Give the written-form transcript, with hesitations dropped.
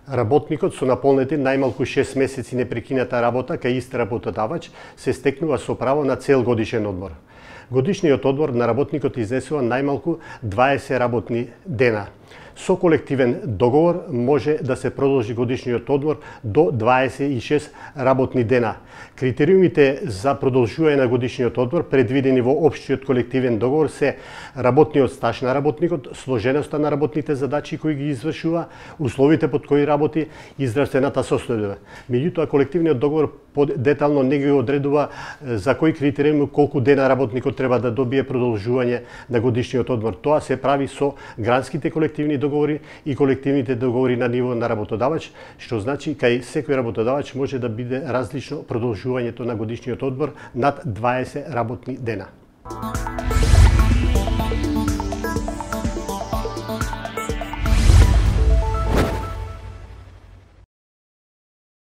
Работникот со наполнети најмалку 6 месеци непрекината работа кај ист работодавач се стекнува со право на цел годишен одмор. Годишниот одмор на работникот изнесува најмалку 20 работни дена. Со колективен договор може да се продолжи годишниот одмор до 26 работни дена. Критериумите за продолжување на годишниот одмор предвидени во општиот колективен договор се работниот стаж на работникот, сложеноста на работните задачи кои ги извршува, условите под кои работи и здравствената состојба. Меѓутоа, колективниот договор детално не ги одредува за кои критериуми колку дена работникот треба да добие продолжување на годишниот одмор. Тоа се прави со гранските колективни договори и колективните договори на ниво на работодавач, што значи кај секој работодавач може да биде различно продолжувањето на годишниот одмор над 20 работни дена.